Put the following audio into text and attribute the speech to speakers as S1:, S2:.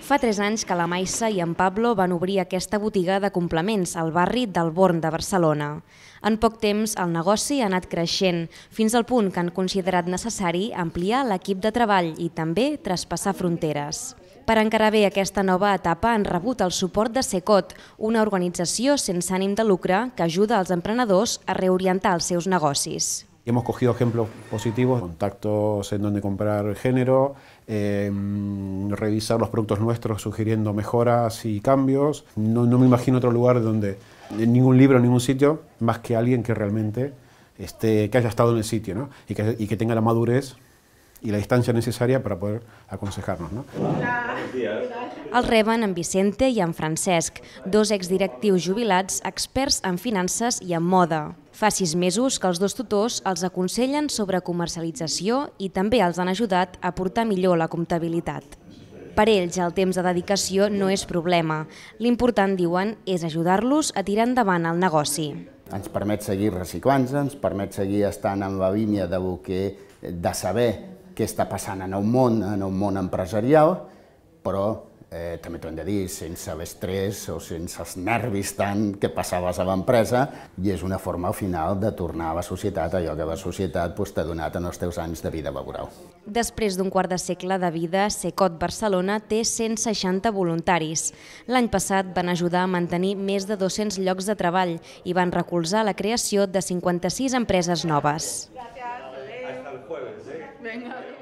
S1: Fa 3 anys que la Maissa i en Pablo van obrir aquesta botiga de complements al barri del Born de Barcelona. En poc temps, el negoci ha anat creixent, fins al punt que han considerat necessari ampliar l'equip de treball i també traspassar fronteres. Per encarar bé aquesta nova etapa han rebut el suport de Secot, una organització sense ànim de lucre que ajuda els emprenedors a reorientar els seus negocis.
S2: Hemos cogido ejemplos positivos, contactos en donde comprar género, revisar los productos nuestros sugiriendo mejoras y cambios. No me imagino otro lugar donde, en ningún libro, en ningún sitio, más que alguien que realmente que haya estado en el sitio, ¿no? y que tenga la madurez i la distància necessària per poder aconsejar-nos.
S1: Els reben en Vicente i en Francesc, 2 exdirectius jubilats experts en finances i en moda. Fa 6 mesos que els 2 tutors els aconsellen sobre comercialització i també els han ajudat a portar millor la comptabilitat. Per ells, el temps de dedicació no és problema. L'important, diuen, és ajudar-los a tirar endavant el negoci.
S3: Ens permet seguir reciclant-se, ens permet seguir estant en la línia de saber què està passant en el món empresarial, però també t'ho hem de dir, sense l'estrès o sense els nervis tant que passaves a l'empresa, i és una forma al final de tornar a la societat allò que la societat t'ha donat en els teus anys de vida laboral.
S1: Després d'un quart de segle de vida, Secot Barcelona té 160 voluntaris. L'any passat van ajudar a mantenir més de 200 llocs de treball i van recolzar la creació de 56 empreses noves.
S4: Hasta el jueves, ¿eh? Venga.